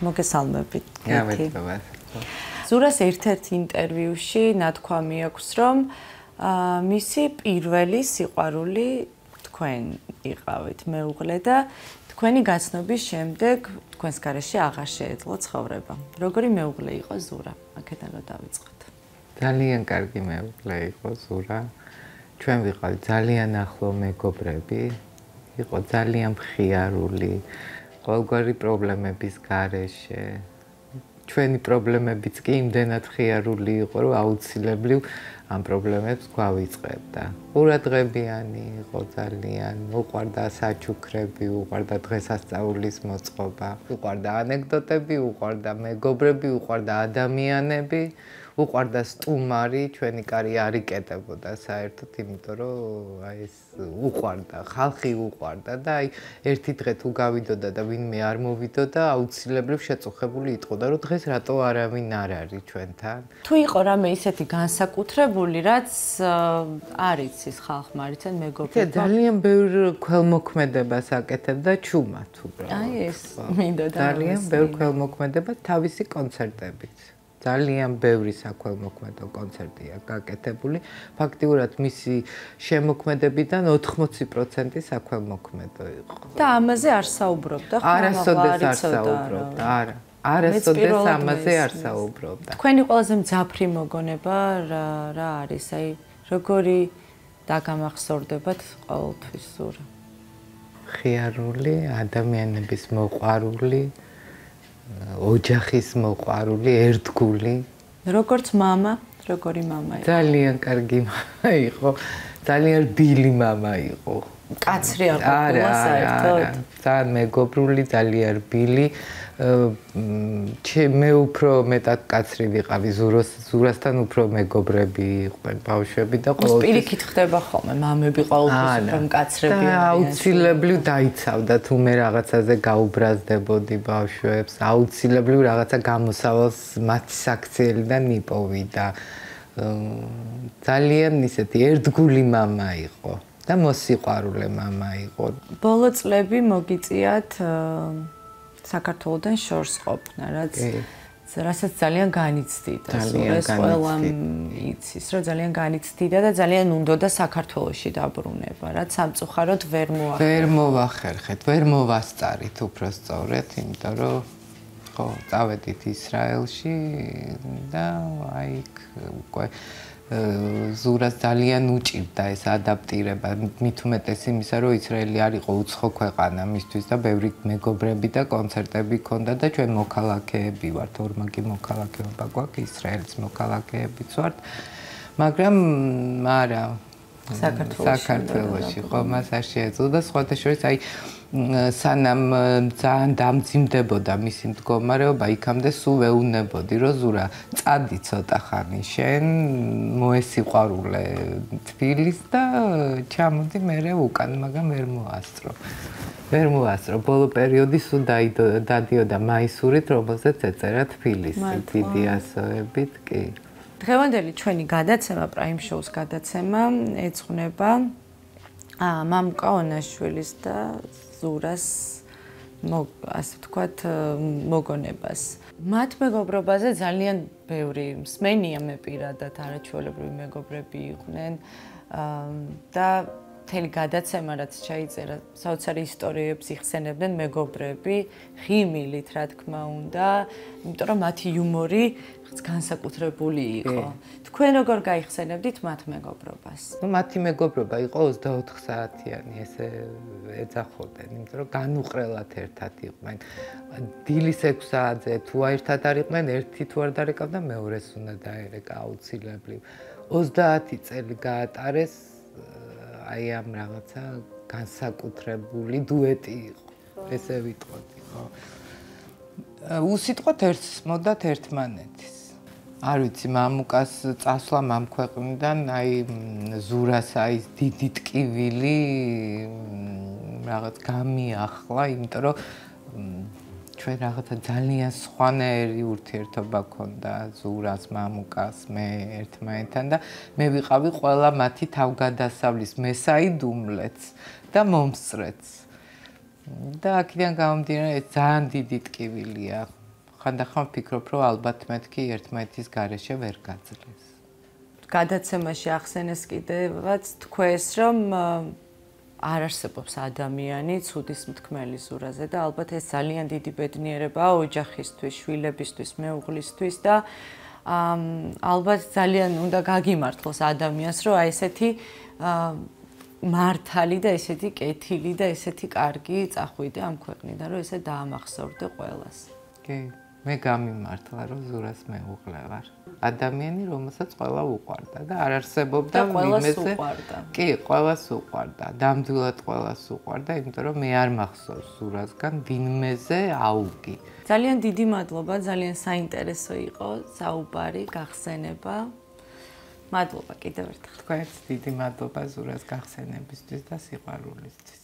მოგესალმებით. გამარჯობა. ზურას ერთ-ერთ ინტერვიუში ნათქვამი აქვს, რომ მისი პირველი სიყვარული თქვენ იყავით მეუღლე და თქვენი გაცნობის შემდეგ თქვენს გარეშე აღარ შეეძლო ცხოვრება. როგორი მეუღლე იყო ზურა? აქედან რომ დავიწყოთ. ძალიან კარგი მეუღლე იყო ზურა. ჩვენ ვიყავით ძალიან ახლო მეგობრები. იყო ძალიან მხიარული. ყოველგვარი პრობლემების გარეშე. ჩვენი პრობლემებიც კი იმდენად მხიარული იყო, რომ აუცილებლივ ამ პრობლემებს გვავიწყებდა. ყურადღებიანი იყო ძალიან, უყვარდა საჩუქრები, უყვარდა დღესასწაულის მოწყობა, უყვარდა ანეკდოტები, უყვარდა მეგობრები, უყვარდა ადამიანები, უყვარდა სტუმარი, ჩვენი კარი არ იკეტებოდა საერთოდ, იმიტომ რომ აი ეს უყვარდა, ხალხი უყვარდა და აი ერთი დღე თუ გავიდოდა და ვინმე არ მოვიდოდა, აუცილებლივ შეწუხებული იტყოდა, რომ დღეს რატო არავინ არ არის ჩვენთან. თუ იყო რამე ისეთი განსაკუთრებული, რაც არ იცის ხალხმა, არ იციან მეგობრებმა. ძალიან ბევრ ქველმოქმედებას აკეთებდა ჩუმად უბრალოდ. აი ეს მინდოდა. ძალიან ბევრ ქველმოქმედება თავისი კონცერტებით. ძალიან ბევრი საქველმოქმედო კონცერტია გაკეთებული. ფაქტიურად მისი შემოქმედებიდან 80% საქველმოქმედო იყო. და ამაზე არ საუბრობდა ხო? არასოდეს არ საუბრობდა, არა. არასოდეს ამაზე არ საუბრობდა. თქვენი ყველაზე მძაფრი მოგონება რა არის? აი როგორი დაგამახსოვრდებათ ყოველთვის ზურა? ხიარული, ადამიანების მოყვარული, ოჯახის მოყვარული, ერთგული. როგორც მამა, როგორი მამა იყო? ძალიან კარგი მამა იყო, ძალიან რბილი მამა იყო. კაცრი არ ყოფილა საერთოდ? ძალიან მეგობრული, ძალიან რბილი. მე უფრო მეტად კაცრი ვიყავი, ზურასთან უფრო მეგობრები იყვნენ ბავშვები და ყოველთვის პირიქით ხდება ხოლმე, მამები ყოველთვის უფრო მკაცრები არიან. აუცილებლივ დაიცავდა თუ მე რაღაცაზე გაუბრაზდებოდი ბავშვებს, აუცილებლივ რაღაცა გამოსავალს მათი საქციელიდან მიპოვიდა. ძალიან ისეთი ერთგული მამა იყო და მოსიყვარულე მამა იყო. ბოლო წლები მოგიწიათ საქართველოდან შორს ყოფნა, რასაც ძალიან განიცდიდა. ეს ყველამ იცის, რომ ძალიან განიცდიდა და ძალიან უნდოდა საქართველოში დაბრუნება, რაც სამწუხაროდ ვერ მოახერხეთ. ვერ მოვახერხეთ, ვერ მოვასწარით უფრო სწორედ, იმიტომ რომ ხო, წავედით ისრაელში და აი უკვე ზურას ძალიან უჭირდა ეს ადაპტირება, მით უმეტეს იმისა, რომ ისრაელი არ იყო უცხო ქვეყანა მისთვის და ბევრი მეგობრები და კონცერტები ჰქონდა და ჩვენ მოქალაქეები ვართ, ორმაგი მოქალაქეობა გვაქვს, ისრაელის მოქალაქეებიც ვართ, მაგრამ არა საქართველოში ხო მას არ შეეძლო და სხვათა შორის აი სანამ ძალიან დამძიმდებოდა მისი მდგომარეობა, იქამდე სულ ვეუბნებოდი, რომ ზურა, წადი ცოტა ხანი შენ, მოესიყვარულე თბილის და ჩამოდი მერე უკან, მაგრამ ვერ მოასწრო. ვერ მოასწრო. ბოლო პერიოდი სულ დადიოდა მაისურით, რომელზეც ეწერა თბილისი, დიდი ასოებით, კი. დღევანდელი ჩვენი გადაცემა, Prime Show-ს გადაცემა ეძღვნება მამუკა ონაშვილის და ზურას ასე ვთქვათ მოგონებას. მათ მეგობრობაზე ძალიან ბევრი მსმენია მე პირადად არაჩვეულებრივი მეგობრები იყვნენ და მთელი გადაცემა რაც ჩაიწერა, საოცარი ისტორიებს იხსენებდნენ მეგობრები, ღიმილით რა თქმა უნდა, იმიტომ რომ მათი იუმორი განსაკუთრებული იყო. თქვენ როგორ გაიხსენებდით მათ მეგობრობას? მათი მეგობრობა იყო 24 საათიანი, ესე ეძახოდნენ, იმიტომ რომ განუყრელად ერთად იყვნენ. დილის 6 საათზე თუ ერთად არ იყვნენ, ერთი თუ არ დარეკავდა, მეორეს უნდა დაერეკა აუცილებლივ. 30 წელი გაატარეს აი ამ რაღაცა განსაკუთრებული დუეტი იყო, ესე ვიტყოდი, ხო. უსიტყვოდ ერთს მოდათ ერთმანეთის. არ ვიცი, მამუკას წასვლა ამ ქვეყნიდან, აი ზურას აი დიდი ტკივილი რაღაც გამიახლა, იმიტომ რომ ჩვენ რაღაცა ძალიან სხვანაირი ურთიერთობა გქონდა ზურას, მამუკას, მე ერთმანეთთან და მე ვიყავი ყველა მათი თავგადასავლის მესაიდუმლეც და მომსწრეც. და აქედან გამომდინარე ძალიან დიდი ტკივილია ხანდახან ვფიქრობ, რომ ალბათ მეთქი ერთმანეთის გარეშე ვერ გაძლეს. გადაცემაში ახსენეს კიდევაც თქვეს, რომ არ არსებობს ადამიანი ცუდის მთქმელი ზურაზე და ალბათ ეს ძალიან დიდი ბედნიერებაა ოჯახისთვის, შვილებისთვის, მეუღლისთვის და ალბათ ძალიან უნდა გაგიმართლოს ადამიანს, რომ აი ესეთი მართალი და ესეთი კეთილი და ესეთი კარგი წახვიდე ამ ქვეყნიდან, რომ ესე დაამახსოვრდე ყველას. კი, მე გამიმართლა, რომ ზურას მეუღლე ვარ. ადამიანი, რომელსაც ყველა უყვარდა და არ არსებობდა ვინმეზე. კი, ყველას უყვარდა, ნამდვილად ყველას უყვარდა, იმიტომ რომ მე არ მახსოვს ზურასგან ვინმეზე აუგი. ძალიან დიდი მადლობა, ძალიან საინტერესო იყო საუბარი, გახსენება. მადლობა კიდევ ერთხელ. თქვენს დიდი მადლობა ზურას გახსენებისთვის და სიყვარულისთვის.